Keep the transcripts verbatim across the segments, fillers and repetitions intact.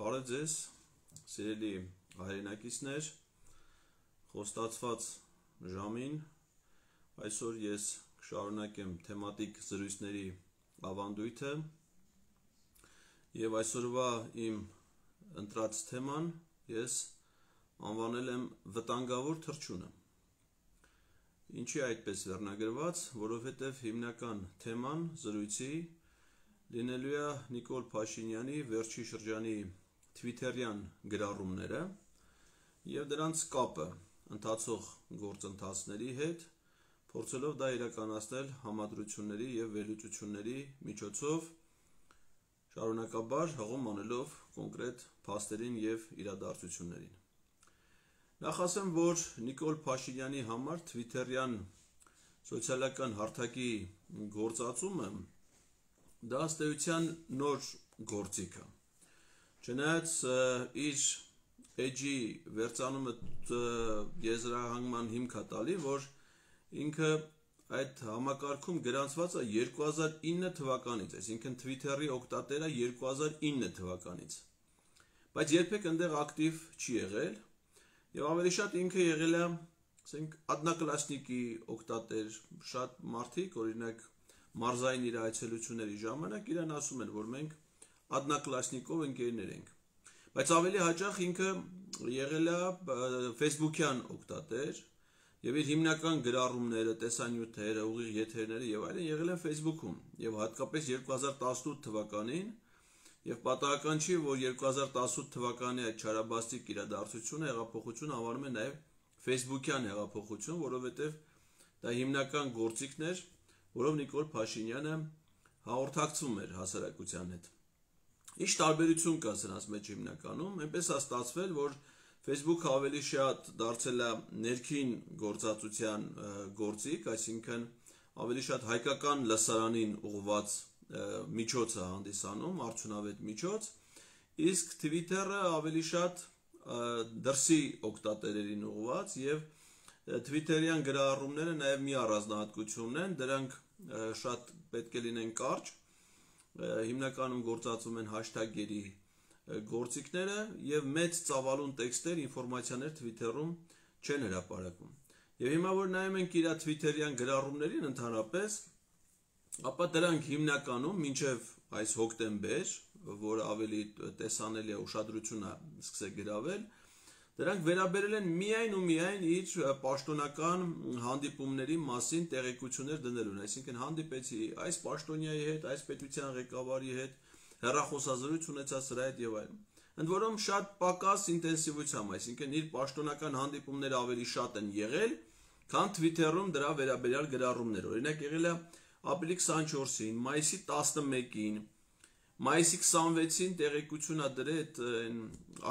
Բարև ձեզ, սիրելի հայրենակիցներ, խոստացված ժամին այսօր ես կշարունակեմ թեմատիկ զրույցների ավանդույթը և այսօրվա իմ ընտրած թեման ես անվանել եմ վտանգավոր թռչունը։ Ինչի այդպես վերնագրված, որովհետև հիմնական թեման զրույցի լինելու է Նիկոլ Փաշինյանի վերջի շրջանի թվիթերյան գրառումները և դրանց կապը ընթացող գործընթացների հետ, փորձելով դա իրականացնել համադրությունների և վերլուծությունների միջոցով, շարունակաբար հղում անելով կոնկրետ փաստերին և իրադարձություններին։ Նախ ասեմ, որ Նիկոլ Փաշինյանի համար թվիթերյան սոցիալական հարթակի գործածումը դա ըստ էության նոր գործիք է։ Չնայած իր էջի վերծանումը եզրահանգման հիմք է տալի, որ ինքը այդ համակարգում գրանցված է երկու հազար ինը թվականից, այսինքն Twitter-ի օգտատերը երկու հազար ինը թվականից, բայց երբեք այնտեղ ակտիվ չի եղել և ավելի շատ ինքը եղել է, ասենք, одноклассники օգտատեր, շատ մարդիկ, օրինակ մարզային իր այցելությունների ժամանակ իրան ասում են, որ մենք одноклассникով ընկերներ ենք, բայց ավելի հաճախ ինքը եղել է Facebook-յան օգտատեր և իր հիմնական գրառումները, տեսանյութերը, ուղիղ եթերները և այլն եղել են Facebook-ում և հատկապես երկու հազար տասնութ թվականին և պատահական չի, որ երկու հազար տասնութ թվականի այդ չարաբաստիկ իրադարձությունը հեղափոխություն անվանում են նաև Facebook-յան հեղափոխություն, որովհետև դա հիմնական գործիքն էր, որով Նիկոլ Փաշինյանը հաղորդակցվում էր հասարակության հետ։ Ինչ տարբերություն կա սրանց մեջ հիմնականում, այնպես է ստացվել, որ Facebook-ը ավելի շատ դարձել է ներքին գործածության գործիք, այսինքն ավելի շատ հայկական լսարանին ուղղված միջոց է հանդիսանում, արդյունավետ միջոց, իսկ Twitter-ը ավելի շատ դրսի օգտատերերին ուղղված և Twitter-յան գրառումները նաև մի առանձնահատկություն են, դրանք շատ պետք է լինեն կարճ, հիմնականում գործածում են hashtag-երի գործիքները և մեծ ծավալուն տեքստեր, ինֆորմացիաներ Twitter-ում չեն հրապարակում։ Եվ հիմա որ նայում ենք իր Twitter-յան գրառումներին ընդհանրապես, ապա դրանք հիմնականում մինչև այս հոկտեմբեր, որ ավելի տեսանելի է ուշադրությունը սկսել գրավել, դրանք վերաբերել են միայն ու միայն իր պաշտոնական հանդիպումների մասին տեղեկություններ դնելուն, այսինքն հանդիպեցի այս պաշտոնյայի հետ, այս պետության ղեկավարի հետ, հեռախոսազրույց ունեցա սրա հետ և այլն։ Ընդ որում շատ պակաս ինտենսիվությամբ, այսինքն իր պաշտոնական հանդիպումները ավելի շատ են եղել, քան Twitter-ում դրա վերաբերյալ գրառումներ։ Օրինակ եղել է ապրիլի քսանչորսին, մայիսի տասնմեկին, մայիսի քսանվեցին տեղեկություն է դրել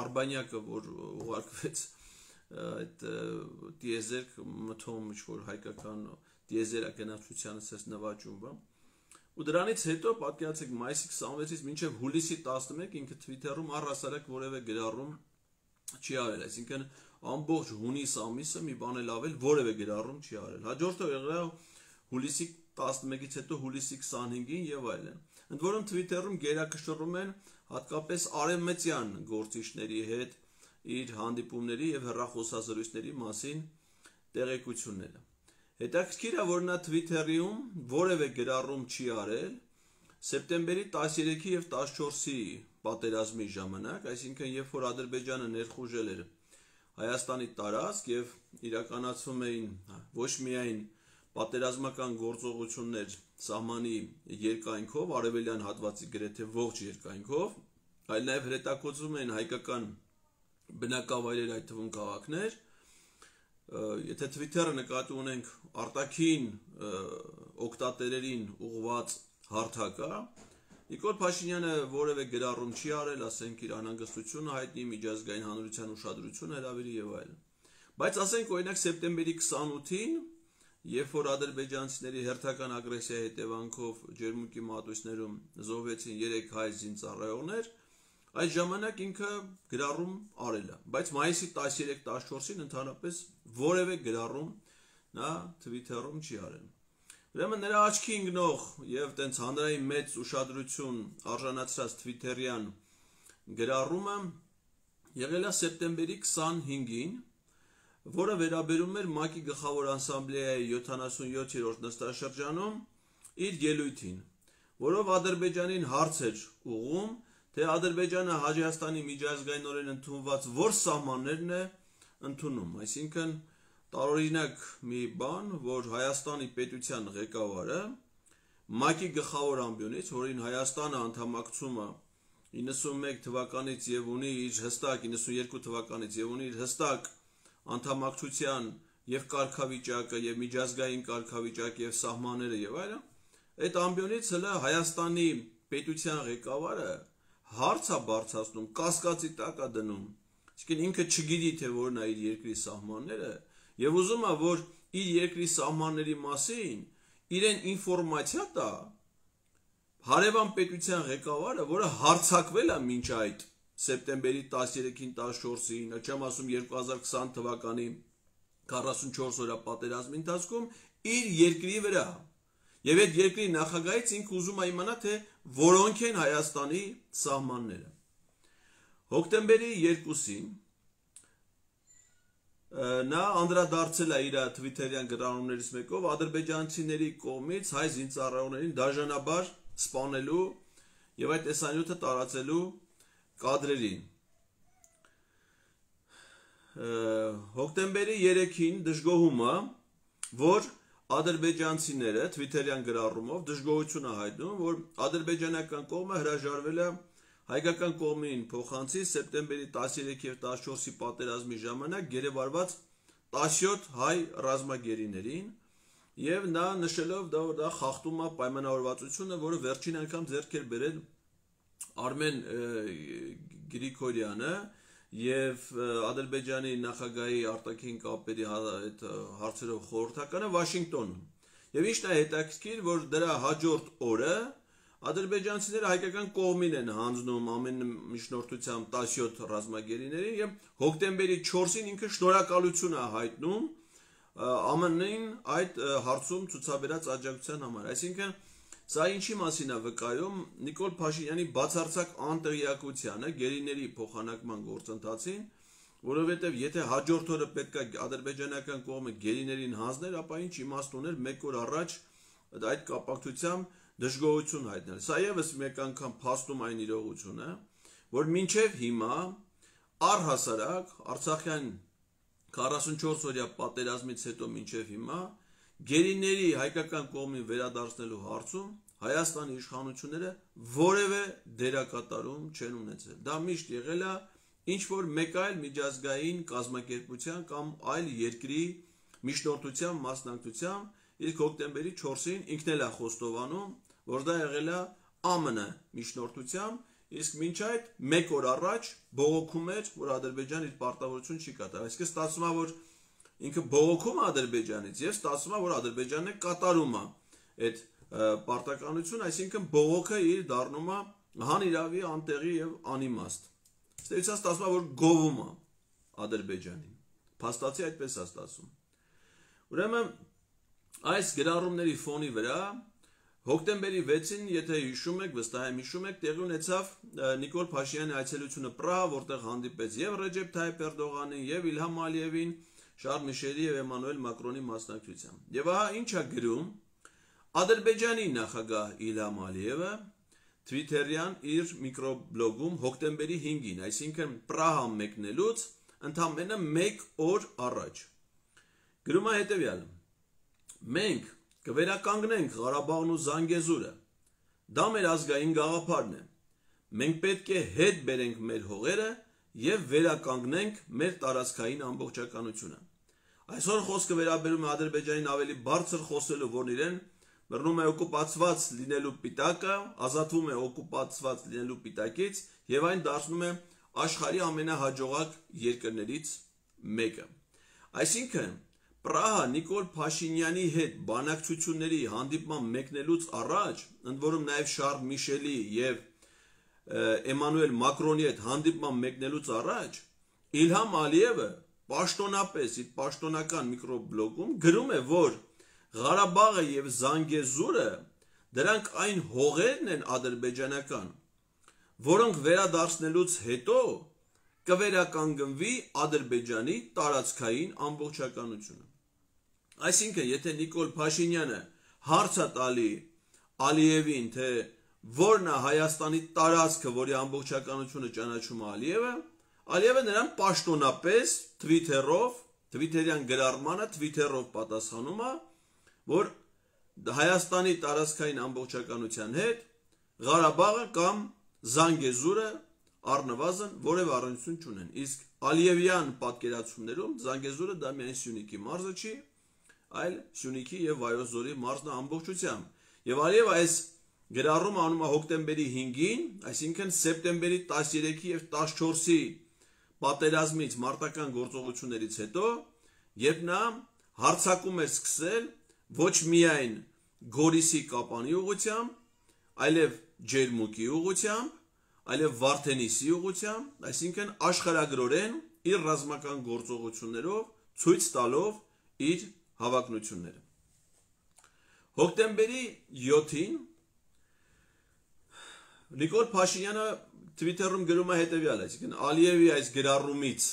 Արբանյակը, որ ուղարկվեց այդ տիեզերք մթոմ ինչ-որ հայկական տիեզերագնացությանը սես նվաճում, ու դրանից հետո պատկերացրեք մայիսի քսանվեցից մինչև հուլիսի տասնմեկը ինքը Twitter-ում առհասարակ որևէ գրառում չի արել, այսինքն ամբողջ հունիս ամիսը մի բան էլ ավել որևէ գրառում չի արել։ Հաջորդը եղել հուլիսի տասնմեկից հետո հուլիսի քսանհինգին և այլն։ Ընդ որում Twitter-ում գերակշռում են հատկապես արևմտյան գործիչների հետ իր հանդիպումների և հեռախոսազրույցների մասին տեղեկությունները։ Հետաքրքիր է, որ նա Twitter-ում որևէ գրառում չի արել սեպտեմբերի տասներեքի և տասնչորսի պատերազմի ժամանակ, այսինքն երբ որ Ադրբեջանը ներխուժել էր Հայաստանի տարածք և իրականացվում էին ոչ միայն պատերազմական գործողություններ սահմանի երկայնքով, արևելյան հատվածի գրեթե ողջ երկայնքով, այլ նաև հրետակոծվում էին հայկական բնակավայրեր, այդ թվում քաղաքներ, եթե Twitter-ը նկատի ունենք արտաքին օգտատերերին ուղղված հարթակ է, Նիկոլ Փաշինյանը որևէ գրառում չի արել, ասենք իր անհանգստությունը հայտնի, միջազգային հանրության ուշադրությունը հրավիրի և այլն։ Բայց ասենք օրինակ սեպտեմբերի քսանութին, երբ որ ադրբեջանցիների հերթական ագրեսիայի հետևանքով Ջերմուկի մատույցներում զոհվեցին երեք հայ զինծառայողներ, այդ ժամանակ ինքը գրառում արել է, բայց մայիսի տասներեքը տասնչորսին ընդհանրապես որևէ գրառում նա Twitter-ում չի արել։ Ուրեմն նրա աչքի ընկնող և տենց հանրային մեծ ուշադրություն արժանացրած Twitter-յան գրառումը եղել է սեպտեմբերի քսանհինգին, որը վերաբերում էր ՄԱԿ-ի գլխավոր ասամբլեայի յոթանասունյոթերորդ նստաշրջանում իր ելույթին, որով Ադրբեջանին հարց էր ուղղում, թե Ադրբեջանը Հայաստանի միջազգայինորեն ընդունված որ սահմաններն է ընդունում, այսինքն տարօրինակ մի բան, որ Հայաստանի պետության ղեկավարը ՄԱԿ-ի գլխավոր ամբիոնից, որին Հայաստանը անդամակցում է իննսունմեկ թվականից եւ ունի իր հստակ իննսունյոթ թվականից եւ ունի իր հստակ անդամակցության եւ կարգավիճակը եւ միջազգային կարգավիճակը եւ սահմանները եւ այլն, այդ ամբիոնից հələ Հայաստանի պետության ղեկավարը հարց է բարձրացնում, կասկածի տակ է դնում, այսինքն ինքը չգիտի թե որն է իր երկրի սահմանները եւ ուզում է որ իր երկրի սահմանների մասին իրեն ինֆորմացիա տա հարևան պետության ղեկավարը, որը հարձակվել է մինչ այդ սեպտեմբերի տասներեքին տասնչորսին, չեմ ասում երկու հազար քսան թվականի քառասունչորս օրյա պատերազմի ընթացքում իր երկրի վրա։ Եվ այդ երկրի նախագահից ինքը ուզում է իմանա, թե որոնք են Հայաստանի սահմանները։ Հոկտեմբերի երկուսին նա անդրադարձել է իր թվիթերյան գրառումներից մեկով ադրբեջանցիների կողմից հայ զինծառայողներին դաժանաբար սպանելու եւ այդ տեսանյութը տարածելու կադրերին։ Հոկտեմբերի երեքին դժգոհումը, որ ադրբեջանցիները թվիթերյան գրառումով դժգոհություն է հայտնում, որ ադրբեջանական կողմը հրաժարվել է հայկական կողմին փոխանցի սեպտեմբերի տասներեքի եւ տասնչորսի պատերազմի ժամանակ գերեվարված տասնյոթ հայ ռազմագերիներին եւ նա նշելով դա որ դա խախտում է պայմանավորվածությունը, որը վերջին անգամ ձեռք էր բերել Արմեն Գրիգորյանը եւ Ադրբեջանի նախագահի արտաքին կապերի այդ հարցերով խորհրդականը Վաշինգտոնում։ Եվ ինչն է հետաքրքիր, որ դրա հաջորդ օրը ադրբեջանցիները հայկական կողմին են հանձնում ամեն միջնորդությամբ տասնյոթ ռազմագերիներին եւ հոկտեմբերի չորսին ինքը շնորհակալություն է հայտնում ԱՄՆ-ին այդ հարցում ցուցաբերած աջակցության համար։ Այսինքն սա ինչի մասին է վկայում Նիկոլ Փաշինյանի բացարձակ անտեղյակությանը գերիների փոխանակման գործընթացին, որովհետև եթե հաջորդ օրը պետք է ադրբեջանական կողմը գերիներին հանձներ, ապա ինչ իմաստ ուներ մեկ օր առաջ այդ կապակցությամբ դժգոհություն հայտնել։ Սա եւս մեկ անգամ փաստում այն իրողությունը, որ մինչև հիմա առհասարակ Արցախյան քառասունչորս օրյա պատերազմից հետո մինչև հիմա գերիների հայկական կողմին վերադարձնելու հարցում Հայաստանի իշխանությունները որևէ դերակատարում չեն ունեցել։ Դա միշտ եղել է ինչ որ մեկ այլ միջազգային կազմակերպության կամ այլ երկրի միջնորդության մասնակցությամբ, իսկ հոկտեմբերի չորսին ինքն էլ է խոստովանում, որ դա եղել է ԱՄՆ միջնորդությամբ, իսկ մինչ այդ մեկ օր առաջ բողոքում էր, որ Ադրբեջանը իր պարտավորություն չի կատարում։ Այսինքն ստացվում է, որ ինքը բողոքում է Ադրբեջանից եւ ստացվում է, որ Ադրբեջանն է կատարում է այդ պարտականություն, այսինքն բողոքը իր դառնում է հանիրավի, անտեղի եւ անիմաստ։ Ստեցա ստացվում է, որ գովում է Ադրբեջանին։ Փաստացի այդպես է ստացվում։ Ուրեմն այս գրառումների ֆոնի վրա հոկտեմբերի վեցին, եթե հիշում եք, վստահ եմ հիշում եք, տեղի ունեցավ Նիկոլ Փաշինյանի այցելությունը Պրահա, որտեղ հանդիպեց եւ Ռեջեփ Թայիփ Էրդողանին, եւ Իլհամ Ալիևին, Շարլ Միշելի եւ Էմանուել Մակրոնի մասնակցությամբ։ Եվ ահա ինչ է գրում Ադրբեջանի նախագահ Իլհամ Ալիևը Twitter-յան իր միկրոբլոգում հոկտեմբերի հինգին, այսինքն Պրահա մեկնելուց ընդամենը մեկ օր առաջ։ Գրում է հետևյալը. Մենք կվերականգնենք Ղարաբաղն ու Զանգեզուրը։ Դա մեր ազգային գաղափարն է։ Մենք պետք է հետ բերենք մեր հողերը եւ վերականգնենք մեր տարածքային ամբողջականությունը։ Այսօր խոսքը վերաբերում է Ադրբեջանին ավելի բարձր խոսելու, որն իրեն բռնում է օկուպացված լինելու պիտակը, ազատվում է օկուպացված լինելու պիտակից եւ այն դարձնում է աշխարհի ամենահաջողակ երկրներից մեկը։ Այսինքն Պրահա Նիկոլ Փաշինյանի հետ բանակցությունների հանդիպման մեկնելուց առաջ, ընդ որում նաև Շարլ Միշելի եւ Էմանուել Մակրոնի հետ հանդիպման մեկնելուց առաջ Իլհամ Ալիևը պաշտոնապես իր պաշտոնական միկրոբլոգում գրում է, որ Ղարաբաղը եւ Զանգեզուրը դրանք այն հողերն են ադրբեջանական, որոնք վերադարձնելուց հետո կվերականգնվի Ադրբեջանի տարածքային ամբողջականությունը։ Այսինքն, եթե Նիկոլ Փաշինյանը հարց է տալի Ալիևին, թե որն է Հայաստանի տարածքը, որի ամբողջականությունը ճանաչում է Ալիևը, Ալիևը նրան պաշտոնապես Twitter-ով, Twitter-յան գրառմանը Twitter-ով պատասխանում է, որ Հայաստանի տարածքային ամբողջականության հետ Ղարաբաղը կամ Զանգեզուրը առնվազն որևէ առնչություն չունեն։ Իսկ Ալիևյան պատկերացումներում Զանգեզուրը դա միայն Սյունիքի մարզը չի, այլ Սյունիքի եւ Վայոց ձորի մարզն է ամբողջությամբ։ Եվ Ալիևը այս գրառումը անում է հոկտեմբերի հինգին, այսինքն սեպտեմբերի տասներեքի եւ տասնչորսի պատերազմից մարտական գործողություններից հետո, երբ նա հարձակում էր սկսել ոչ միայն Գորիսի Կապանի ուղղությամբ, այլև Ջերմուկի ուղղությամբ, այլև Վարդենիսի ուղղությամբ, այսինքն աշխարհագրորեն իր ռազմական գործողություններով ցույց տալով իր հավակնությունները։ Հոկտեմբերի յոթին Նիկոլ Փաշինյանը Twitter-ում գրում է հետևյալը, այսինքն Ալիևի այս գրառումից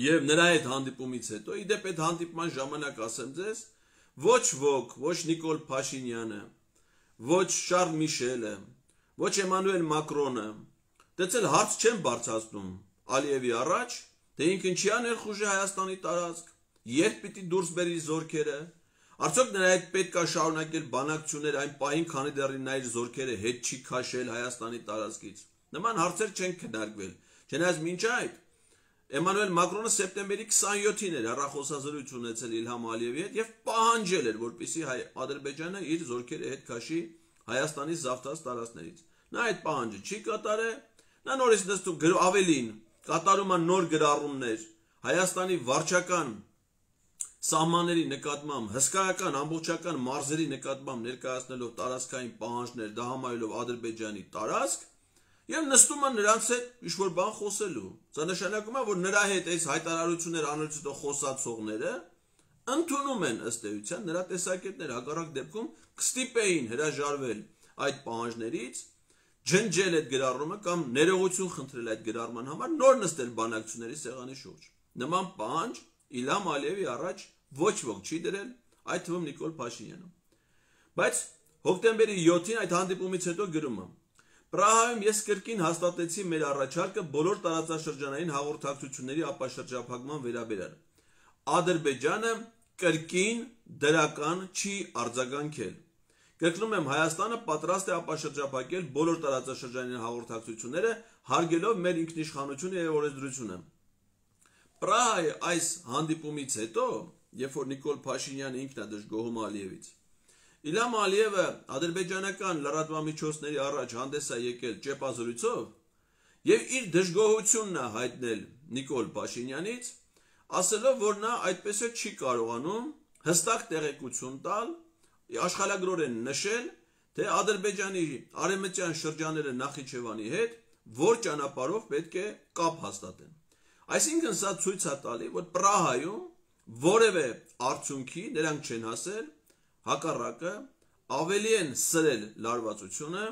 եւ նրա հետ հանդիպումից հետո, իդեպ այդ հանդիպման ժամանակ ասեմ ձեզ, ոչ ոք, ոչ Նիկոլ Փաշինյանը, ոչ Շարլ Միշելը, ոչ Էմանուել Մակրոնը դեցել հարց չեն բարձրացնում Ալիևի առաջ, թե ինքն չի ներխուժի Հայաստանի տարածք, երբ պիտի դուրս բերի զորքերը, արդյոք նրա հետ պետք է շարունակել բանակցություններ այն պահին, քանի դեռ նա իր զորքերը հետ չի քաշել Հայաստանի տարածքից։ Նման հարցեր չեն քննարկվել։ Չնայած մինչ այդ Էմանուել Մակրոնը սեպտեմբերի քսանյոթին էր հեռախոսազրույց ունեցել Իլհամ Ալիևի հետ եւ պահանջել էր, որպեսզի Ադրբեջանը իր զորքերը հետ քաշի Հայաստանի զավթած տարածքներից։ Նա այդ պահանջը չի կատարել, նա նորից նստում ավելին կատարում է նոր գրառումներ Հայաստանի վարչական սահմանների նկատմամբ, հսկայական ամբողջական մարզերի նկատմամբ ներկայացնելով տարածքային պահանջներ, դա համարելով Ադրբեջանի տարածք, եւ նստում են նրանց հետ ինչ-որ բան խոսելու։ Դա նշանակում է, որ նրա հետ այս հայտարարություններ անելուց հետո խոսացողները ընդունում են ըստ էության նրա տեսակետները, հակառակ դեպքում կստիպեին հրաժարվել այդ պահանջներից, ջնջել այդ գրառումը կամ ներողություն խնդրել այդ գրառման համար, նոր նստել բանակցությունների սեղանի շուրջ։ Նման պահանջ Իլհամ Ալիևի առաջ ոչ ոք չի դրել, այդ թվում Նիկոլ Փաշինյանը։ Բայց հոկտեմբերի յոթին այդ հանդիպումից հետո գրում է. Պրահայում ես կրկին հաստատեցի մեր առաջարկը բոլոր տարածաշրջանային հաղորդակցությունների ապաշրջափակման վերաբերյալ։ Ադրբեջանը կրկին դրական չի արձագանքել։ Կրկնում եմ, Հայաստանը պատրաստ է ապաշրջափակել բոլոր տարածաշրջանային հաղորդակցությունները, հարգելով մեր ինքնիշխանությունը եւ օրենսդրությունը։ Պրահայի այս հանդիպումից հետո, երբ որ Նիկոլ Փաշինյանը ինքն է դժգոհում Ալիևից, Իլհամ Ալիևը ադրբեջանական լրատվամիջոցների առաջ հանդես է եկել ճեպազրույցով եւ իր դժգոհությունն է հայտնել Նիկոլ Փաշինյանից, ասելով, որ նա այդպես է չի կարողանում հստակ տեղեկություն տալ, աշխարհագրորեն նշել, թե Ադրբեջանի արևմտյան շրջանները Նախիջևանի հետ որ ճանապարհով պետք է կապ հաստատեն։ Այսինքն սա ցույց է տալի, որ Պրահայում որևէ արդյունքի նրանք չեն հասել, հակառակը ավելի են սրել լարվածությունը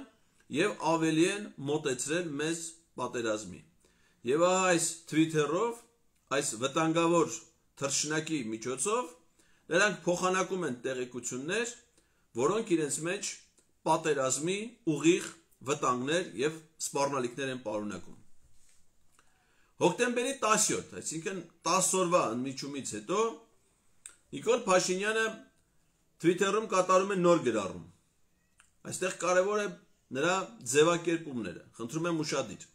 եւ ավելի են մոտեցրել մեզ պատերազմի։ Եվ այս Twitter-ով, այս վտանգավոր թռչնակի միջոցով նրանք փոխանակում են տեղեկություններ, որոնք իրենց մեջ պատերազմի ուղիղ վտանգներ եւ սպառնալիքներ են պարունակում։ Հոկտեմբերի տասնյոթ, այսինքն տասը օրվա ընդմիջումից հետո Նիկոլ Փաշինյանը Twitter-ում կատարում է նոր գրառում։ Այստեղ կարևոր է նրա ձևակերպումները, խնդրում եմ ուշադիր։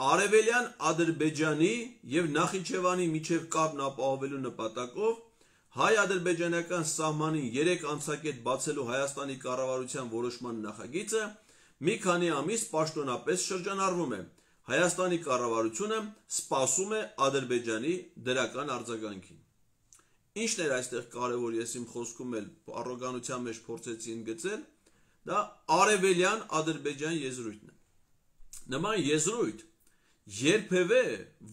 Արևելյան Ադրբեջանի եւ Նախիջևանի միջև կապն ապահովելու նպատակով հայ-ադրբեջանական սահմանին երեք անցակետ բացելու Հայաստանի կառավարության որոշման նախագիծը մի քանի ամիս պաշտոնապես շրջանառվում է։ Հայաստանի կառավարությունը սպասում է Ադրբեջանի դրական արձագանքին։ Ինչն էր այստեղ կարևոր, ես իմ խոսքում էլ առոգանության մեջ փորձեցի ընդգծել, դա արևելյան Ադրբեջան եզրույթն է։ Նման եզրույթ երբևէ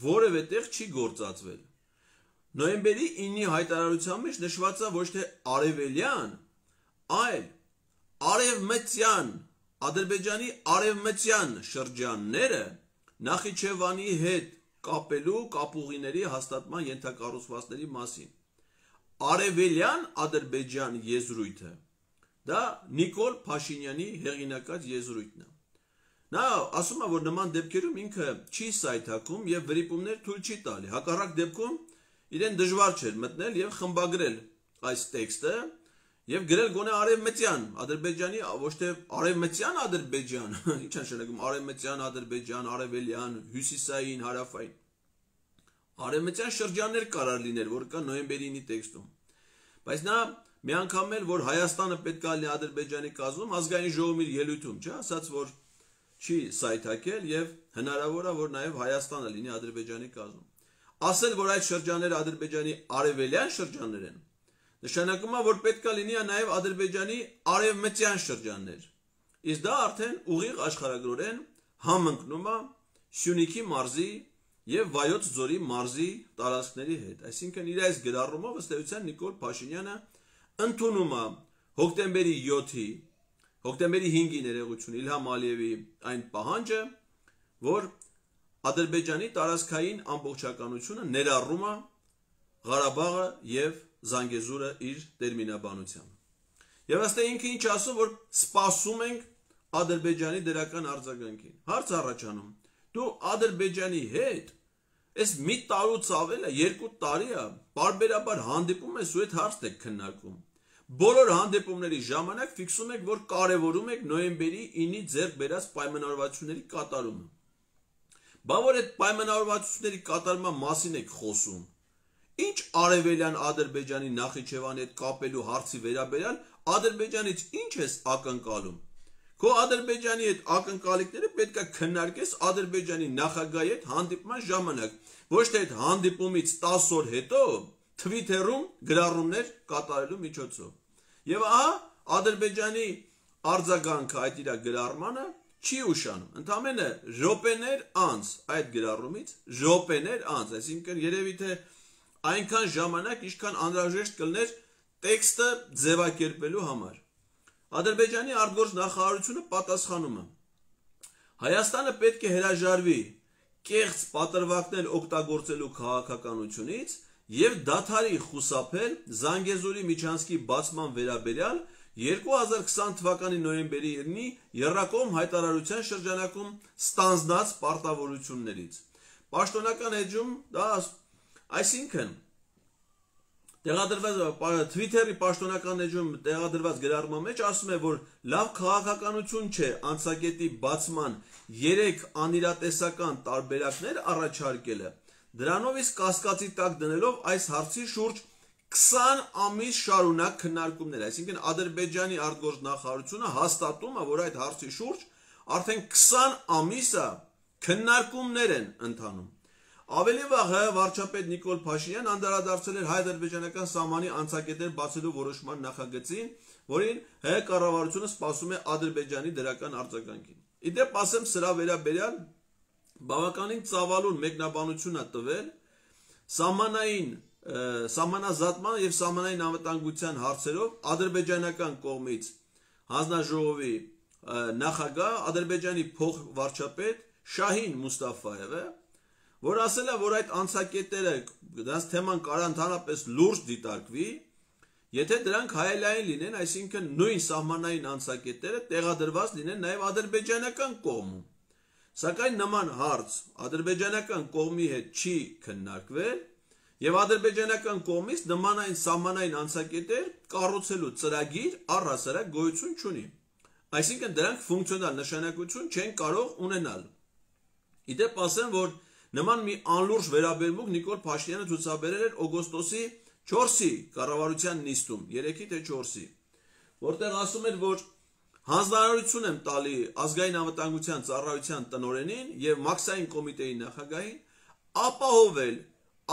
որևէ տեղ չի գործածվել։ Նոյեմբերի ինի հայտարարության մեջ նշված է ոչ թե արևելյան, այլ արևմտյան Ադրբեջանի արևմտյան շրջանները Նախիջևանի հետ կապելու կապուղիների հաստատման ենթակառուցվածքների մասին։ Արևելյան Ադրբեջան եզրույթը դա Նիկոլ Փաշինյանի հեղինակած եզրույթն է։ Նա ասում է, որ նման դեպքերում ինքը չի սայթաքում եւ վրիպումներ թույլ չի տալի։ Հակառակ դեպքում իրեն դժվար չէր մտնել եւ խմբագրել այս տեքստը եւ գրել գոնե արևմտյան Ադրբեջանի, ոչ թե արևմտյան Ադրբեջան, ինչ է նշանակում արևմտյան Ադրբեջան, արևելյան, հյուսիսային, հարավային։ Արևմտյան շրջաններ կարող լիներ, որ կա նոյեմբերի ինի տեքստում։ Բայց նա մի անգամ էլ որ Հայաստանը պետք է լինի Ադրբեջանի կազմում, ազգային ժողովի ելույթում, չէ՞, ասաց որ չի սայթակել եւ հնարավոր է որ նաեւ Հայաստանը լինի Ադրբեջանի կազմում։ Ասել որ այդ շրջանները Ադրբեջանի արևելյան շրջաններ են, նշանակում է որ պետք է լինի նաեւ Ադրբեջանի արևմտյան շրջաններ։ Իսկ դա արդեն ուղիղ աշխարհագրորեն համընկնում է Սյունիքի մարզի եւ Վայոց ձորի մարզի տարածքների հետ։ Այսինքն իր այս գրառումով ըստ էության Նիկոլ Փաշինյանը ընդունում է հոկտեմբերի յոթի հոկտեմբերի հինգի ներողություն Իլհամ Ալիևի այն պահանջը, որ Ադրբեջանի տարածքային ամբողջականությունը ներառում է Ղարաբաղը եւ Զանգեզուրը իր տերմինաբանությամբ։ Եվ ըստ ինքը ինչ ասում, որ սպասում ենք Ադրբեջանի դրական արձագանքին։ Հարց առաջանում. դու Ադրբեջանի հետ այս մի տարուց ավել է, երկու տարի է, բարբերաբար հանդիպում ես ու այդ հարցն եք քննարկում։ Բոլոր հանդիպումների ժամանակ ֆիքսում եք, որ կարևորում եք նոյեմբերի ինի ձեռք բերած պայմանավորվածությունների կատարումը։ Բա որ այդ պայմանավորվածությունների կատարման մասին եք խոսում։ Ինչ արևելյան Ադրբեջանի Նախիջևանի հետ կապելու հարցի վերաբերյալ Ադրբեջանից ինչ ես ակնկալում։ Քո Ադրբեջանի հետ ակնկալիքները պետք է քննարկես Ադրբեջանի նախագահի հետ հանդիպման ժամանակ, ոչ թե այդ հանդիպումից տասը օր հետո Twitter-ում գրառումներ կատարելու միջոցով։ Եվ ահա Ադրբեջանի արձագանքը այդ իր գրառմանը չի ուշանում։ Ընդամենը րոպեներ անց այդ գրառումից, րոպեներ անց, այսինքն երևի թե այնքան ժամանակ, ինչքան անհրաժեշտ կլներ տեքստը ձևակերպելու համար։ Ադրբեջանի արտգործ նախարարությունը պատասխանում է. Հայաստանը պետք է հրաժարվի կեղծ պատրվակներ օգտագործելու քաղաքականությունից եւ դադարի խուսափել Զանգեզուրի միջանցքի բացման վերաբերյալ երկու հազար քսան թվականի նոյեմբերի ինի Եռակողմ հայտարարության շրջանակում ստանձնած պարտավորություններից։ Պաշտոնական էջում դա այսինքն տեղադրված Twitter-ի պաշտոնական էջում տեղադրված գրառման մեջ ասում է, որ լավ քաղաքականություն չէ անցակետի բացման երեք անիրատեսական տարբերակներ առաջարկելը, դրանով իսկ կասկածի տակ դնելով այս հարցի շուրջ քսան ամիս շարունակ քննարկումներ, այսինքն Ադրբեջանի արտգործ նախարարությունը հաստատում է, որ այդ հարցի շուրջ արդեն քսան ամիս է քննարկումներ են ընթանում։ Ավելի վաղ ՀՀ վարչապետ Նիկոլ Փաշինյան անդրադարձել էր հայ-ադրբեջանական սահմանի անցակետեր բացելու որոշման նախագծին, որին ՀՀ կառավարությունը սպասում է Ադրբեջանի դրական արձագանքին։ Իդեպ ասեմ սրա վերաբերյալ բավականին ծավալուն մեկնաբանություն է տվել սահմանային սահմանազատման եւ սահմանային անվտանգության հարցերով ադրբեջանական կողմից հանձնաժողովի նախագահ Ադրբեջանի փոխվարչապետ Շահին Մուստաֆայևը, որ ասել է, որ այդ անցակետերը դրանց թեման կարող ընդհանրապես լուրջ դիտարկվի, եթե դրանք հայելային լինեն, այսինքն նույն սահմանային անցակետերը տեղադրված լինեն նաև ադրբեջանական կողմում։ Սակայն նման հարց ադրբեջանական կողմի հետ չի քննարկվել եւ ադրբեջանական կողմից նման այն սահմանային անցակետեր կառուցելու ծրագիր առհասարակ գոյություն չունի։ Այսինքն դրանք ֆունկցիոնալ նշանակություն չեն կարող ունենալ։ Իդեպ ասեմ, որ նման մի անլուրջ վերաբերմունք Նիկոլ Փաշինյանը ցուցաբերել էր օգոստոսի չորսի կառավարության նիստում, երեքի թե չորսի, որտեղ ասում էր, որ հանձնարարություն եմ տալի ազգային անվտանգության ծառայության տնօրենին եւ մաքսային կոմիտեի նախագահին ապահովել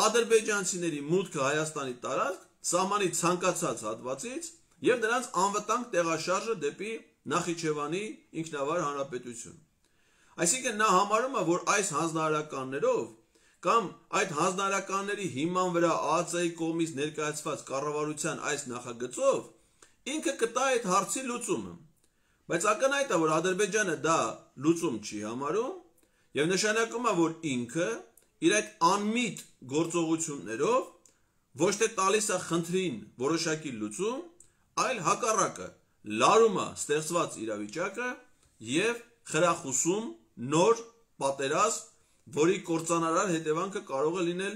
ադրբեջանցիների մուտքը Հայաստանի տարածք սահմանի ցանկացած հատվածից եւ նրանց անվտանգ տեղաշարժը դեպի Նախիջևանի ինքնավար հանրապետություն։ Այսինքն նա համարում է, որ այս հանձնարարականներով կամ այդ հանձնարարականների հիման վրա ԱԱԾ-ի կողմից ներկայացված կառավարության այս նախագծով ինքը կտա այդ հարցի լուծումը։ Բայց ակնհայտ է, որ Ադրբեջանը դա լուծում չի համարում եւ նշանակում է, որ ինքը իր այդ անմիտ գործողություններով ոչ թե տալիս է խնդրին որոշակի լուծում, այլ հակառակը լարում է ստեղծված իրավիճակը եւ խրախուսում նոր պատերազմ, որի կործանարար հետևանքը կարող է լինել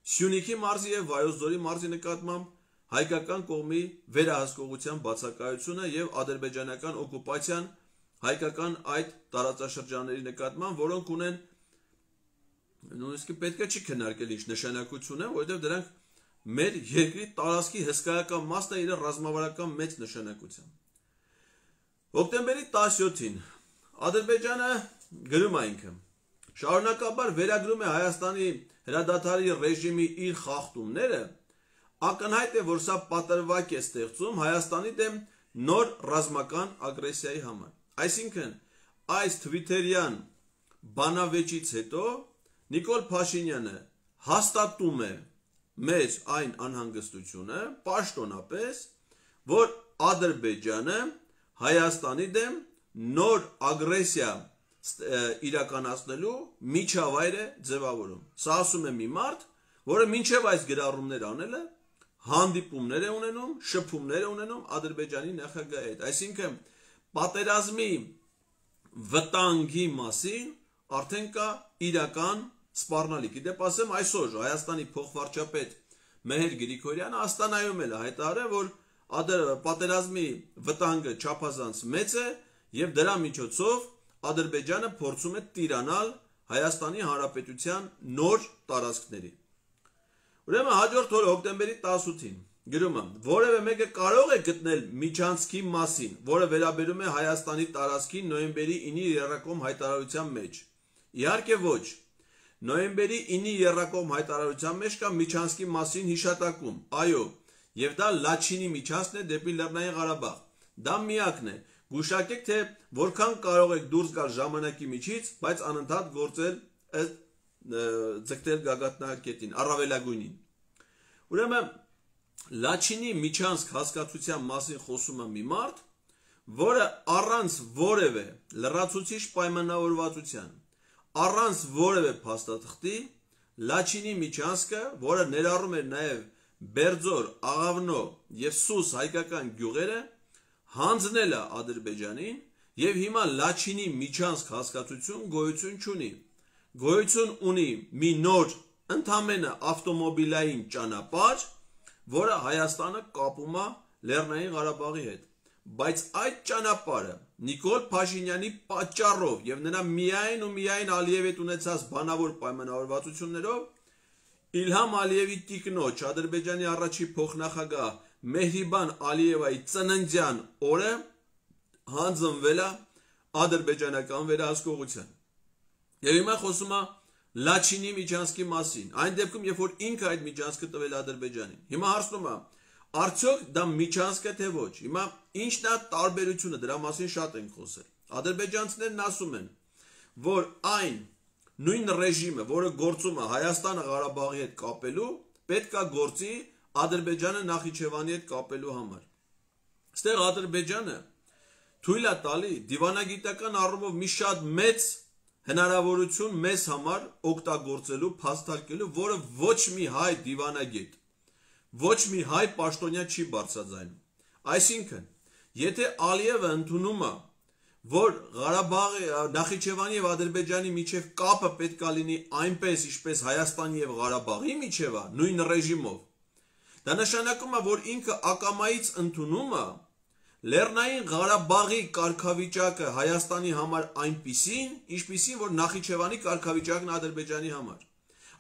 Սյունիքի մարզի եւ Վայոց ձորի մարզի նկատմամբ հայկական կողմի վերահսկողության բացակայությունը եւ ադրբեջանական օկուպացիան հայկական այդ տարածաշրջանների նկատմամբ, որոնք ունեն նույնիսկ պետք է չի քննարկել ինչ նշանակություն է, որովհետեւ դրանք մեր երկրի տարածքի հսկայական մասն է իր ռազմավարական մեծ նշանակությամբ։ Հոկտեմբերի տասնյոթին Ադրբեջանը գրում է ինքը շարունակաբար վերագրում է Հայաստանի հրադադարի ռեժիմի իր խախտումները, ակնհայտ է, որ սա պատրվակ է ստեղծում Հայաստանի դեմ նոր ռազմական ագրեսիայի համար։ Այսինքն, այս թվիթերյան բանավեճից հետո Նիկոլ Փաշինյանը հաստատում է մեծ այն անհանգստությունը, պաշտոնապես, որ Ադրբեջանը Հայաստանի դեմ նոր ագրեսիա իրականացնելու միջավայր է ձևավորում։ Սա ասում է մի մարդ, որը մինչև այս գրառումներ անելը հանդիպումներ է ունենում, շփումներ է ունենում Ադրբեջանի նախագահի հետ։ Այսինքն պատերազմի վտանգի մասին արդեն կա իրական սպառնալիք։ Իդեպ ասեմ, այսօր Հայաստանի փոխվարչապետ Մեհեր Գրիգորյանը Աստանայում էլ հայտարարել, որ պատերազմի վտանգը չափազանց մեծ է եւ դրա միջոցով Ադրբեջանը փորձում է տիրանալ Հայաստանի Հանրապետության նոր տարածքների։ Ուրեմն հաջորդ օրը հոկտեմբերի տասնութին գրում եմ, որևէ մեկը կարող է գտնել միջանցքի մասին, որը վերաբերում է Հայաստանի տարածքին նոյեմբերի ինի եռակողմ հայտարարության մեջ։ Իհարկե ոչ։ Նոյեմբերի ինի եռակողմ հայտարարության մեջ կա միջանցքի մասին հիշատակում։ Այո, եւ դա Լաչինի միջանցքն է դեպի Լեռնային Ղարաբաղ։ Դա միակն է։ Գուշակեք, թե որքան կարող եք դուրս գալ ժամանակի միջից, բայց անընդհատ գործել ձգտել գագաթնակետին, առավելագույնին։ Ուրեմն Լաչինի միջանցք հասկացության մասին խոսում է մի մարդ, որը առանց որևէ լրացուցիչ պայմանավորվածության, առանց որևէ փաստաթղթի Լաչինի միջանցքը, որը ներառում էր նաև Բերձոր, Աղավնո եւ Սուս հայկական գյուղերը, հանձնել է Ադրբեջանին եւ հիմա Լաչինի միջանցք հասկացություն գոյություն չունի։ Գոյություն ունի մի նոր ընդամենը ավտոմոբիլային ճանապարհ, որը Հայաստանը կապում է Լեռնային Ղարաբաղի հետ։ Բայց այդ ճանապարհը Նիկոլ Փաշինյանի պատճառով եւ նրա միայն ու միայն Ալիևի հետ ունեցած բանավոր պայմանավորվածություններով Իլհամ Ալիևի տիկնոջ Ադրբեջանի առաջին փոխնախագահ Մեհրիբան Ալիևայի ծննդյան օրը հանձնվել է ադրբեջանական վերահսկողության։ Եվ հիմա խոսում է Լաչինի միջանցքի մասին, այն դեպքում, երբ որ ինքը այդ միջանցքը տվել Ադրբեջանին։ Հիմա հարցնում է, արդյոք դա միջանցք է թե ոչ։ Հիմա ինչն է տարբերությունը, դրա մասին շատ ենք խոսել։ Ադրբեջանցիներն ասում են, որ այն նույն ռեժիմը, որը գործում է Հայաստանը Ղարաբաղի հետ կապելու, պետք է գործի Ադրբեջանը Նախիջևանի հետ կապելու համար։ Այստեղ Ադրբեջանը թույլ է տալի դիվանագիտական առումով մի շատ մեծ հնարավորություն մեզ համար օգտագործելու, փաստարկելու, որը ոչ մի հայ դիվանագետ, ոչ մի հայ պաշտոնյա չի բարձրաձայնում։ Այսինքն, եթե Ալիևը ընդունում է, որ Ղարաբաղի, Նախիջևանի եւ Ադրբեջանի միջև կապը պետք է լինի այնպես, ինչպես Հայաստանի եւ Ղարաբաղի միջև է, նույն ռեժիմով, դա նշանակում է, որ ինքը ակամայից ընդունում է Լեռնային Ղարաբաղի կարգավիճակը Հայաստանի համար այնպիսին, ինչպիսին, որ Նախիջևանի կարգավիճակն Ադրբեջանի համար։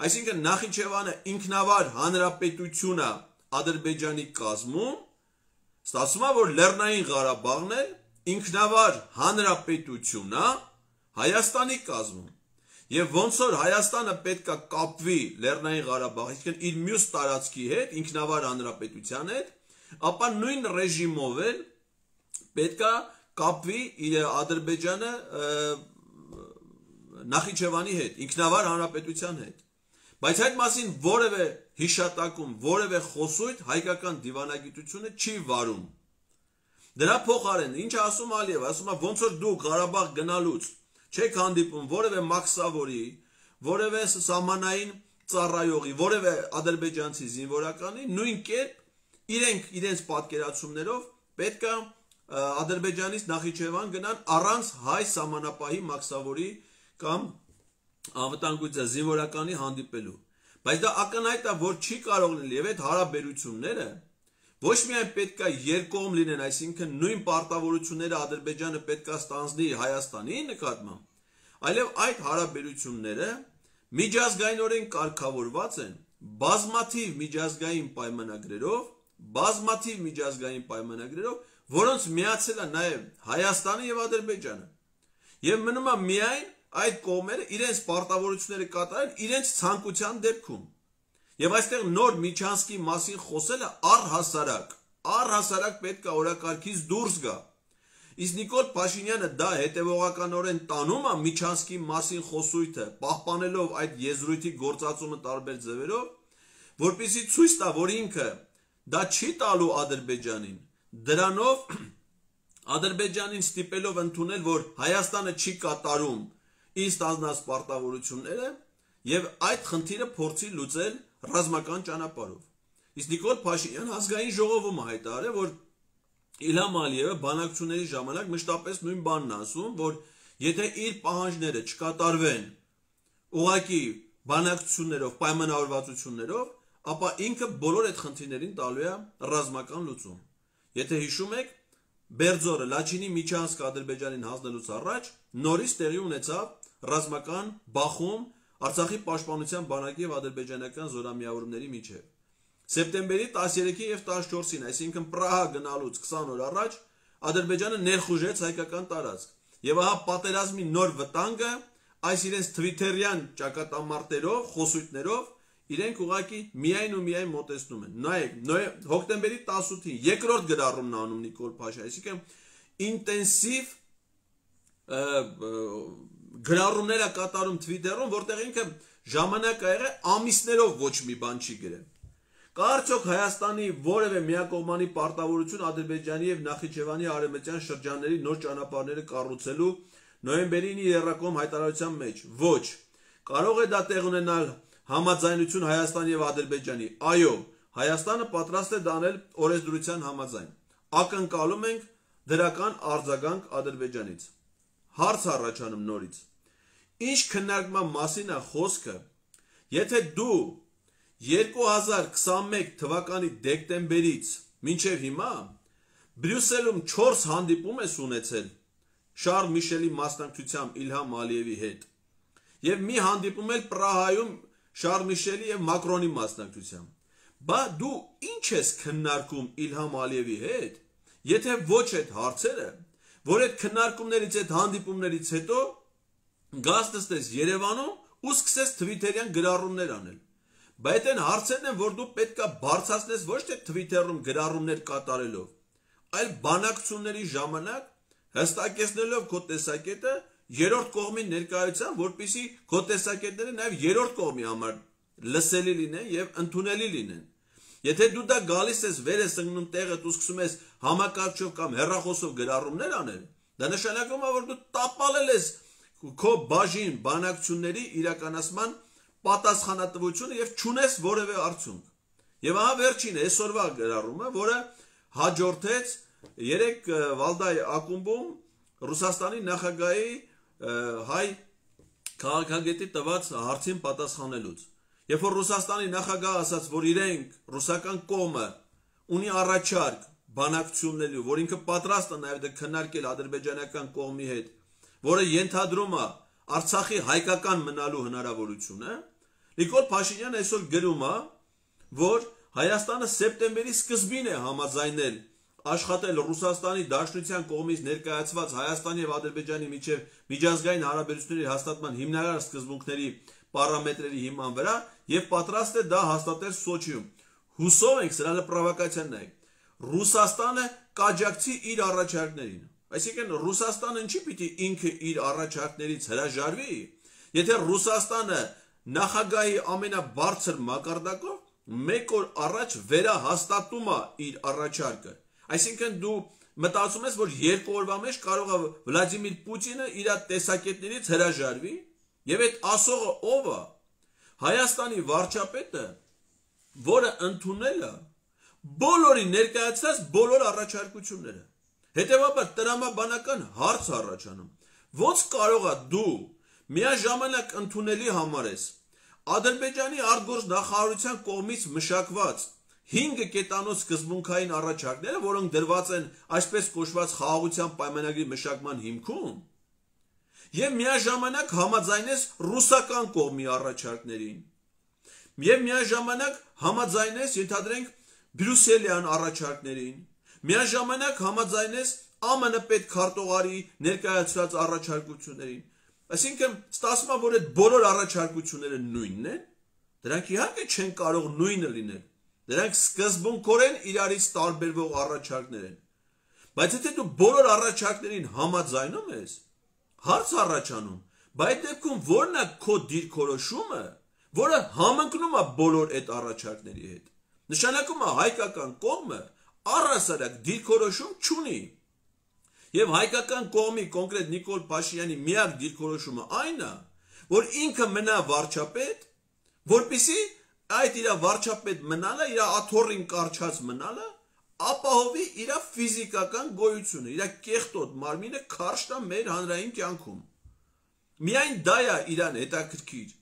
Այսինքն Նախիջևանը ինքնավար հանրապետություն է Ադրբեջանի կազմում, ստացվում է, որ Լեռնային Ղարաբաղն էլ ինքնավար հանրապետություն է Հայաստանի կազմում։ Եվ ոնց որ Հայաստանը պետք է կապվի Լեռնային Ղարաբաղի, այսինքն իր մյուս տարածքի հետ, ինքնավար հանրապետության հետ, ապա նույն ռեժիմով էլ պետք է կապվի Ադրբեջանը Նախիջևանի հետ, ինքնավար հանրապետության հետ։ Բայց այդ մասին որևէ հիշատակում, որևէ խոսույթ հայկական դիվանագիտությունը չի վարում։ Դրա փոխարեն ինչ ասում Ալիևը, ասում է ոնց որ դուք Ղարաբաղ գնալուց չեք հանդիպում որևէ մաքսավորի, որևէ սահմանային ծառայողի, որևէ ադրբեջանցի զինվորականի, նույն կերպ իրենք իրենց պատկերացումներով պետք է Ադրբեջանից Նախիջևան գնան առանց հայ սահմանապահի մաքսավորի կամ անվտանգության զինվորականի հանդիպելու։ Բայց դա ակնհայտ է, որ չի կարող լինել, եւ այդ հարաբերությունները ոչ միայն պետք է երկկողմ լինեն, այսինքն նույն պարտավորությունները Ադրբեջանը պետք է ստանձնի Հայաստանի նկատմամբ, այլև այդ հարաբերությունները միջազգայինորեն կարգավորված են բազմաթիվ միջազգային պայմանագրերով, բազմաթիվ միջազգային պայմանագրերով, որոնց միացել է նաև Հայաստանը եւ Ադրբեջանը։ Եվ մնում է միայն այդ կողմերը իրենց պարտավորությունները կատարեն իրենց ցանկության դեպքում։ Եվ այստեղ նոր միջանցքի մասին խոսելը առհասարակ, առհասարակ պետք է օրակարգից դուրս գա։ Իսկ Նիկոլ Փաշինյանը դա հետևողականորեն տանում է միջանցքի մասին խոսույթը, պահպանելով այդ եզրույթի գործածումը տարբեր ձևերով, որպեսզի ցույց տա, որ ինքը դա չի տալու Ադրբեջանին, դրանով Ադրբեջանին ստիպելով ընդունել, որ Հայաստանը չի կատարում իր ստանձնած պարտավորությունները եւ այդ խնդիրը փորձի լուծել ռազմական ճանապարհով։ Իսկ Նիկոլ Փաշինյանը ազգային ժողովում հայտարարել, որ Իլհամ Ալիևը բանակցությունների ժամանակ մշտապես նույն բանն ասում, որ եթե իր պահանջները չկատարվեն ուղղակի բանակցություններով, պայմանավորվածություններով, ապա ինքը բոլոր այդ խնդիրներին տալու է ռազմական լուծում։ Եթե հիշում եք, Բերձորը Լաչինի միջանցք Ադրբեջանին հանձնելուց առաջ նորից տեղի ունեցավ ռազմական բախում Արցախի պաշտպանության բանակի եւ ադրբեջանական զորամիավորումների միջև։ Սեպտեմբերի տասներեքին եւ տասնչորսին, այսինքն Պրահա գնալուց քսան օր առաջ, Ադրբեջանը ներխուժեց հայկական տարածք։ Եվ ահա պատերազմի նոր վտանգը այս իրենց թվիթերյան ճակատամարտերով, խոսույթներով իրենք ուղղակի միայն ու միայն մոտեցնում են։ Նայեք, հոկտեմբերի տասնութին երկրորդ գրառումն անում Նիկոլ Փաշինյանը, այսինքն ինտենսիվ գրառումներ է կատարում Twitter-ում, որտեղ ինքը ժամանակ ա եղել ամիսներով ոչ մի բան չի գրել։ Կա արդյոք Հայաստանի որևէ միակողմանի պարտավորություն Ադրբեջանի եւ Նախիջևանի արևմտյան շրջանների նոր ճանապարհները կառուցելու նոյեմբերին իր երրակողմ հայտարարության մեջ։ Ոչ։ Կարող է դա տեղ ունենալ համաձայնություն Հայաստանի եւ Ադրբեջանի։ Այո, Հայաստանը պատրաստ է դանել օրենսդրության համաձայն։ Ակնկալում ենք դրական արձագանք Ադրբեջանից։ Հարց առաջանում նորից։ Ինչ քննարկման մասին է խոսքը, եթե դու երկու հազար քսանմեկ թվականի դեկտեմբերից մինչև հիմա Բրյուսելում չորս հանդիպում ես ունեցել Շարլ Միշելի մասնակցությամբ Իլհամ Ալիևի հետ եւ մի հանդիպում էլ Պրահայում Շարլ Միշելի եւ Մակրոնի մասնակցությամբ, բա դու ինչ ես քննարկում Իլհամ Ալիևի հետ, եթե ոչ այդ հարցերը, որ այդ քննարկումներից, այդ հանդիպումներից հետո գաս նստես Երևանում ու սկսես թվիթերյան գրառումներ անել։ Բայց այն հարցերն են, որ դու պետքա բարձրացնես ոչ թե Twitter-ում գրառումներ կատարելով, այլ բանակցությունների ժամանակ հստակեցնելով քո տեսակետը երրորդ կողմի ներկայությամբ, որպեսզի քո տեսակետները նաև երրորդ կողմի համար լսելի լինեն եւ ընդունելի լինեն։ Եթե դու դա գալիս ես վեր ես ընկնում տեղը ու սկսում ես համակարգչով կամ հեռախոսով գրառումներ անել, դա նշանակում է, որ դու տապալել ես քո բաժին բանակցությունների իրականացման պատասխանատվությունը եւ չունես որևէ արդյունք։ Եվ ահա վերջին այսօրվա գրառումը, որը հաջորդեց երեք Վալդայի ակումբում Ռուսաստանի նախագահի հայ քաղաքագետի տված հարցին պատասխանելուց։ Երբ որ Ռուսաստանի նախագահը ասաց, որ իրենք ռուսական կողմը ունի առաջարկ բանակցությունների, որ ինքը պատրաստ է նաև դա քննարկել ադրբեջանական կողմի հետ, որը ենթադրում է Արցախի հայկական մնալու հնարավորությունը, Նիկոլ Փաշինյանը այսօր գրում է, որ Հայաստանը սեպտեմբերի սկզբին է համաձայնել աշխատել Ռուսաստանի Դաշնության կողմից ներկայացված Հայաստանի եւ Ադրբեջանի միջև միջազգային հարաբերությունների հաստատման հիմնարար սկզբունքների պարամետրերի հիման վրա եւ պատրաստ է դա հաստատել Սոչիում։ Հուսով ենք, սրա պրովոկացիան նայեք, Ռուսաստանը կաջակցի իր առաջարկներին։ Այսինքն Ռուսաստանը ինչի պիտի ինքը իր առաջարկներից հրաժարվի, եթե Ռուսաստանը նախագահի ամենաբարձր մակարդակով մեկ օր առաջ վերահաստատում է իր առաջարկը։ Այսինքն դու մտածում ես, որ երկու օրվա մեջ կարող է Վլադիմիր Պուտինը իր տեսակետներից հրաժարվի, եւ այդ ասողը ով է? Հայաստանի վարչապետը, որը ընդունել է բոլորի ներկայացած բոլոր առաջարկությունները։ Հետևաբար տրամաբանական հարց առաջանում, ոնց կարող է դու միաժամանակ ընդունելի համարես Ադրբեջանի արտգործնախարարության կողմից մշակված հինգ կետանոց սկզբունքային առաջարկները, որոնք դրված են այսպես կոչված խաղաղության պայմանագրի մշակման հիմքում, եւ միաժամանակ համաձայնես ռուսական կողմի առաջարկներին, եւ միաժամանակ համաձայնես, ենթադրենք, բրյուսելյան առաջարկներին, միաժամանակ համաձայնես Ա Մ Ն պետքարտուղարի ներկայացված առաջարկություններին։ Այսինքն, ստացվում է, որ այդ բոլոր առաջարկությունները նույնն են, դրանք իհարկե չեն կարող նույնը լինել։ Դրանք սկզբունքորեն իրարից տարբերվող առաջարկներ են։ Բայց եթե դու բոլոր առաջարկներին համաձայնում ես, հարց առաջանում, բայց դեպքում ո՞րն է քո դիրքորոշումը, որը համընկնում է բոլոր այդ առաջարկների հետ։ Նշանակում է հայկական կողմը առհասարակ դիրքորոշում չունի։ Եվ հայկական կողմի կոնկրետ Նիկոլ Փաշինյանի միակ դիրքորոշումը այն է, որ ինքը մնա վարչապետ, որպեսզի այդ իր վարչապետ մնալը, իր աթոռին կարճած մնալը, ապահովի իր ֆիզիկական գոյությունը, իր կեղտոտ մարմինը քարշ տա մեր հանրային կյանքում։ Միայն դա է իրան հետաքրքիր,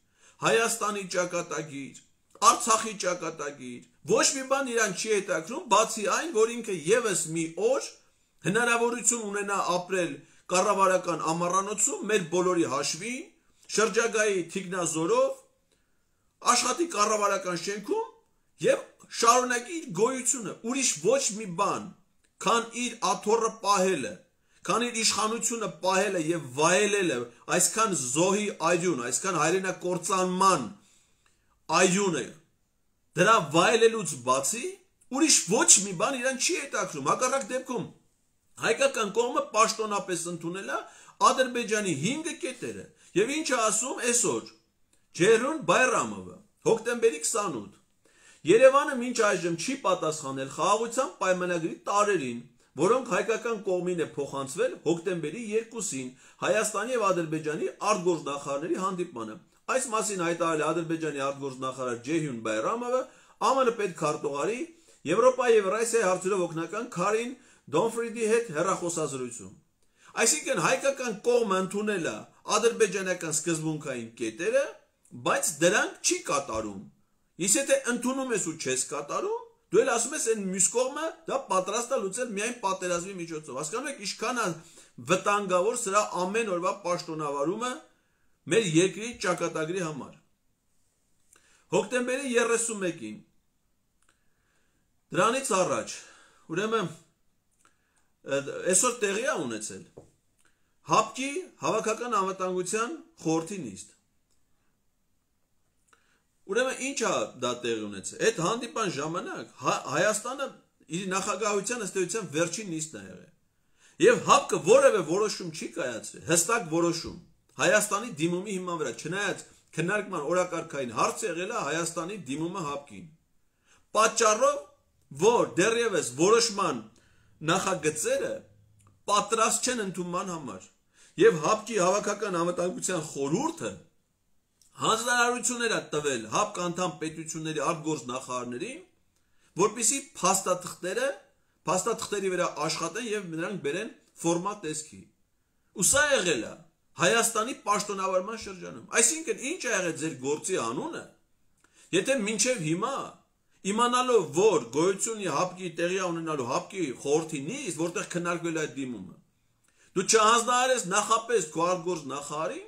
Հայաստանի ճակատագիր, Արցախի ճակատագիր, ոչ մի բան իրան չի հետաքրքրում, բացի այն, որ ինքը եւս մի օր հնարավորություն ունենա ապրել կառավարական ամառանոցում մեր բոլորի հաշվին, շրջագայի թիկնազորով, աշխատի կառավարական շենքում եւ շարունակի իր գոյությունը, ուրիշ ոչ մի բան, քան իր աթոռը պահելը, քան իր իշխանությունը պահելը եւ վայելելը, այսքան զոհի այրուն, այսքան հայրենակործանման այրուն է, դրա վայելելուց բացի ուրիշ ոչ մի բան իրան չի հետաքրում։ Հակառակ դեպքում հայկական կողմը պաշտոնապես ընդունել է Ադրբեջանի հինգ կետերը եւ ինչ է ասում այսօր Ջերուն Բայրամովը հոկտեմբերի քսանութ Երևանը մինչ այժմ չի պատասխանել խաղաղության պայմանագրի տարերին, որոնք հայկական կողմին է փոխանցվել հոկտեմբերի երկուսին Հայաստանի եւ Ադրբեջանի արտգործնախարարների հանդիպմանը։ Այս մասին հայտարարել է Ադրբեջանի արտգործնախարար Ջեհյուն Բայրամովը Ա Մ Ն պետքարտուղարի Եվրոպայի եւ Ռուսիայի հարցերով օգնական Քարին Դոնֆրիդի հետ հեռախոսազրույցում։ Այսինքն հայկական կողմը ընդունել է ադրբեջանական սկզբունքային կետերը, բայց դրանք չի կատարում։ Իսկ եթե ընդունում ես ու չես կատարում, դու էլ ասում ես այն մյուս կողմը դա պատրաստ է լուծել միայն պատերազմի միջոցով։ Հասկանում եք ինչքան է վտանգավոր սրա ամեն օրվա պաշտոնավարումը մեր երկրի ճակատագրի համար։ Հոկտեմբերի երեսունմեկին դրանից առաջ, ուրեմն այսօր տեղի է ունեցել ՀԱՊԿ-ի հավաքական անվտանգության խորհրդի նիստ։ Ուրեմն ինչ է դա տեղի ունեցել։ Այդ հանդիպան ժամանակ Հայաստանը իր նախագահության ըստ էության վերջին նիստն է եղել։ Եվ ՀԱՊԿ-ը որևէ որոշում չի կայացրել, հստակ որոշում Հայաստանի դիմումի հիման վրա, չնայած քննարկման օրակարգային հարց եղել է Հայաստանի դիմումը ՀԱՊԿ-ին։ Պատճառով, որ դեռևս որոշման նախագծերը պատրաստ չեն ընդունման համար։ Եվ ՀԱՊԿ-ի հավաքական անվտանգության խորհուրդը հանձնարարություններ է տվել ՀԱՊԿ անդամ պետությունների արտգործնախարարներին, որպեսզի փաստաթղթերը, փաստաթղթերի վրա աշխատեն եւ նրանք բերեն ֆորմատ տեսքի։ Ու սա եղել է Հայաստանի պաշտոնավարման շրջանում։ Այսինքն ինչ է եղել ձեր գործի անունը, եթե մինչև հիմա իմանալով, որ գոյությունի ՀԱՊԿ-ի տեղի ունենալու ՀԱՊԿ-ի խորհրդի նիստ, որտեղ քննարկվել է այդ դիմումը, դու չհանձնարարես նախապես քո արտգործնախարարին,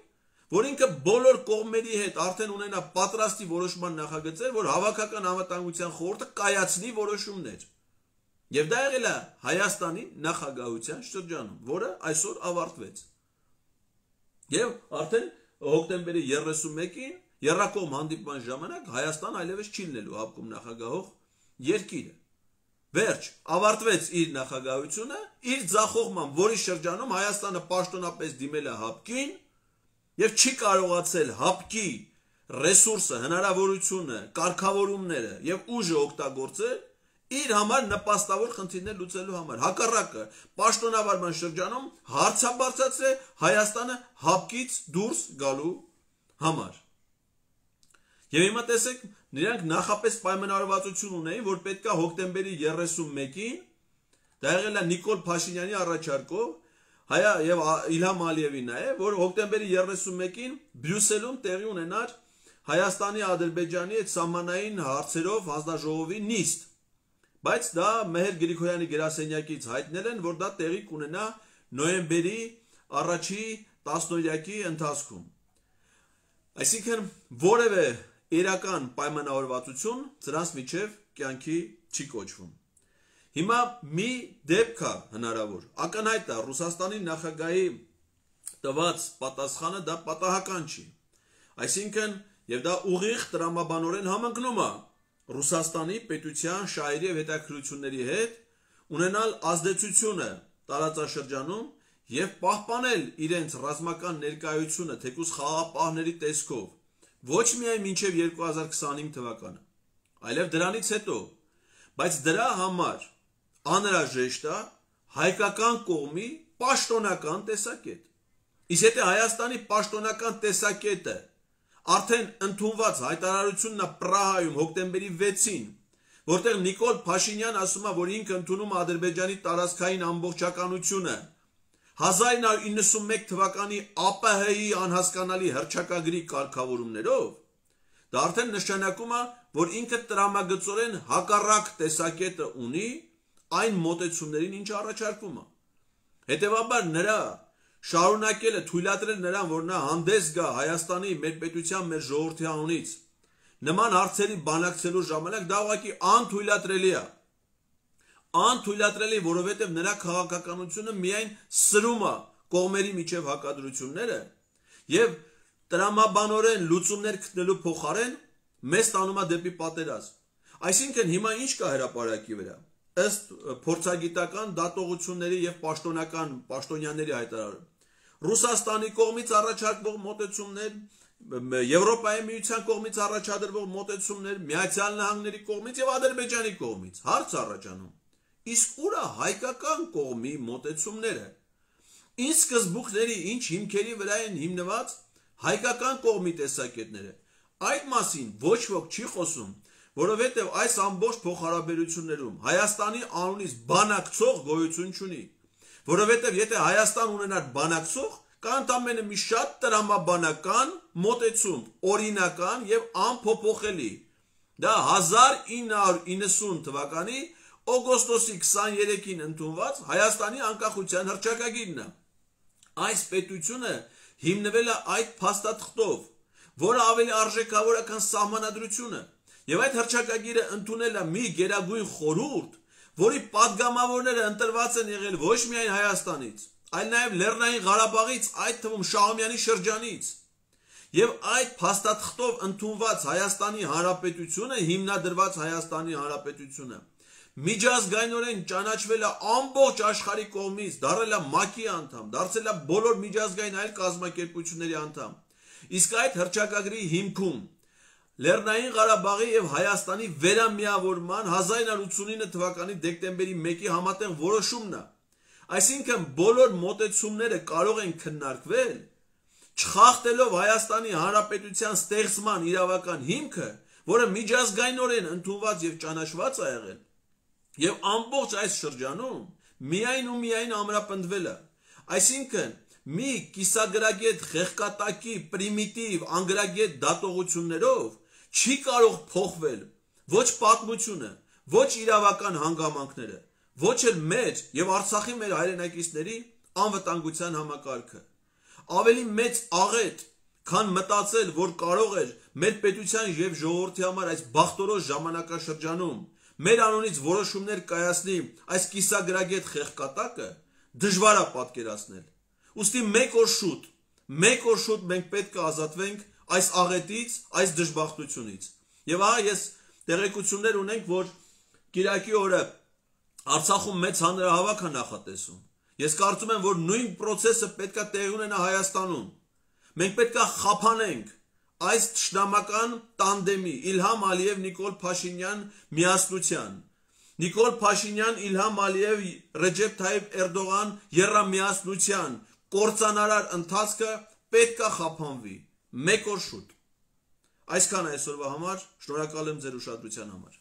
որ ինքը բոլոր կողմերի հետ արդեն ունենա պատրաստի որոշման նախագծեր, որ հավաքական անվտանգության խորհուրդը կայացնի որոշումներ։ Եվ դա եղել է Հայաստանի նախագահության շրջանում, որը այսօր ավարտվեց։ Եվ արդեն հոկտեմբերի երեսունմեկին Եռակողմ հանդիպման ժամանակ Հայաստան այլևս չի լինելու ՀԱՊԿ-ում նախագահող երկիրը։ Վերջ, ավարտվեց իր նախագահությունը, իր ձախողման, որի շրջանում Հայաստանը պաշտոնապես դիմել է ՀԱՊԿ-ին եւ չի կարողացել ՀԱՊԿ-ի ռեսուրսը, հնարավորությունը, կարգավորումները եւ ուժը օգտագործել իր համար նպաստավոր խնդիրներ լուծելու համար։ Հակառակը պաշտոնավարման շրջանում հարց է բարձրացրել Հայաստանը հապկից դուրս գալու համար։ Եվ հիմա տեսեք, նրանք նախապես պայմանավորվածություն ունեին, որ պետք է հոկտեմբերի երեսունմեկին, դա եղել է Նիկոլ Փաշինյանի առաջարկով, հայա եւ Իլհամ Ալիևի նաեւ, որ հոկտեմբերի երեսունմեկին Բրյուսելում տեղի ունենար Հայաստանի Ադրբեջանի այդ սահմանային հարցերով հանձնաժողովի նիստ։ Բայց դա Մեհեր Գրիգորյանի գրասենյակից հայտնել են, որ դա տեղի կունենա նոյեմբերի առաջի տասնօրյակի ընթացքում։ Այսինքն որևէ իրական պայմանավորվածություն դրանց միջև կյանքի չի կոչվում։ Հիմա մի դեպք է հնարավոր, ակնհայտ է Ռուսաստանի նախագահի տված պատասխանը դա պատահական չի։ Այսինքն եւ դա ուղիղ տրամաբանորեն համընկնում է Ռուսաստանի պետության շահերի եւ հետաքրքրությունների հետ ունենալ ազդեցությունը տարածաշրջանում եւ պահպանել իրենց ռազմական ներկայությունը թեկուզ խաղաղապահների տեսքով ոչ միայն մինչև երկու հազար քսանհինգ թվականը, այլև դրանից հետո, բայց դրա համար անհրաժեշտ է հայկական կողմի պաշտոնական տեսակետ։ Իսկ եթե Հայաստանի պաշտոնական տեսակետը արդեն ընդունված հայտարարությունն է Պրահայում հոկտեմբերի վեցին, որտեղ Նիկոլ Փաշինյան ասում է, որ ինքը ընդունում է Ադրբեջանի տարածքային ամբողջականությունը հազար ինը հարյուր իննսունմեկ թվականի ԱՊՀ-ի անհասկանալի հռչակագրի կարգավորումներով, դա արդեն նշանակում է, որ ինքը տրամագծորեն հակառակ տեսակետը ունի այն մոտեցումներին, ինչ առաջարկվում է։ Հետևաբար նրա շարունակելը թույլատրել նրան, որ նա հանդես գա Հայաստանի մեր պետության, մեր ժողովրդի անունից նման հարցերի բանակցելու ժամանակ դա ուղղակի անթույլատրելի է։ Անթույլատրելի, որովհետև նրա քաղաքականությունը միայն սրում է կողմերի միջև հակադրությունները եւ տրամաբանորեն լուծումներ գտնելու փոխարեն մեզ տանում է դեպի պատերազմ։ Այսինքն հիմա ինչ կա հրապարակի վրա։ Ըստ փորձագիտական դատողությունների եւ պաշտոնական պաշտոնյաների հայտարարում Ռուսաստանի կողմից առաջարկվող մոտեցումներ, Եվրոպայի միության կողմից առաջադրվող մոտեցումներ, Միացյալ Նահանգների կողմից եւ Ադրբեջանի կողմից հարց առաջանում։ Իսկ ուր է հայկական կողմի մոտեցումները։ Ինչ սկզբունքների, ինչ հիմքերի վրա են հիմնված հայկական կողմի տեսակետները։ Այդ մասին ոչ ոք չի խոսում, որովհետև այս ամբողջ փոխհարաբերություններում Հայաստանի անունից բանակցող գոյություն չունի, որովհետև եթե Հայաստան ունենար բանակցող, կա ընդամենը մի շատ տրամաբանական մոտեցում, օրինական եւ անփոփոխելի։ Դա հազար ինը հարյուր իննսուն թվականի օգոստոսի քսաներեքին ընդունված Հայաստանի անկախության հռչակագիրն է։ Այս պետությունը հիմնվել է այդ փաստաթղթով, որը ավելի արժեքավոր է, քան սահմանադրությունը, եւ այդ հռչակագիրը ընդունել է մի գերագույն խորհուրդ, որի падգամավորները ընտրված են եղել ոչ միայն Հայաստանից, այլ նաեւ Լեռնային Ղարաբաղից, այդ թվում Շահումյանի շրջանից։ Եվ այդ փաստաթղթով ընդունված Հայաստանի Հանրապետությունը, հիմնադրված Հայաստանի Հանրապետությունը միջազգայինորեն ճանաչվել է ամբողջ աշխարհի կողմից, դարձել է ՄԱԿ-ի անդամ, դարձել է բոլոր միջազգային այլ կազմակերպությունների անդամ։ Իսկ այդ հռչակագրի հիմքում Լեռնային Ղարաբաղի եւ Հայաստանի վերամիավորման հազար ինը հարյուր ութսունինը թվականի դեկտեմբերի մեկի համատեղ որոշումն է։ Այսինքն բոլոր մոտեցումները կարող են քննարկվել, չխախտելով Հայաստանի Հանրապետության ստեղծման իրավական հիմքը, որը միջազգայինորեն ընդունված եւ ճանաչված է եղել։ Եվ ամբողջ այս շրջանում միայն ու միայն ամրապնդվել է։ Այսինքն մի կիսագրագետ խեղկատակի պրիմիտիվ անգրագետ դատողություններով չի կարող փոխվել ոչ պատմությունը, ոչ իրավական հանգամանքները, ոչ էլ մեր եւ Արցախի մեր հայրենակիցների անվտանգության համակարգը։ Ավելի մեծ աղետ, քան մտածել, որ կարող էր մեր պետության եւ ժողովրդի համար այս բախտորոշ ժամանակաշրջանում մեր անունից որոշումներ կայացնի այս կիսագրագետ խեղկատակը, դժվար է պատկերացնել։ Ուստի մեկ օր շուտ, մեկ օր շուտ մենք պետք է ազատվենք այս աղետից, այս դժբախտությունից։ Եվ ահա ես տեղեկություններ ունենք, որ կիրակի օրը Արցախում մեծ հանրահավաք է նախատեսում։ Ես կարծում եմ, որ նույն process-ը պետք է տեղի ունենա Հայաստանում։ Մենք պետք է խափանենք այս թշնամական տանդեմի Իլհամ Ալիև Նիկոլ Փաշինյան միասնության։ Նիկոլ Փաշինյան, Իլհամ Ալիև, Ռեջեփ Թայիփ Էրդողան եռամիասնության կործանարար ընթացքը պետք է խափանվի մեկ օր շուտ։ Այսքան այսօրվա համար, շնորհակալ եմ ձեր ուշադրության համար։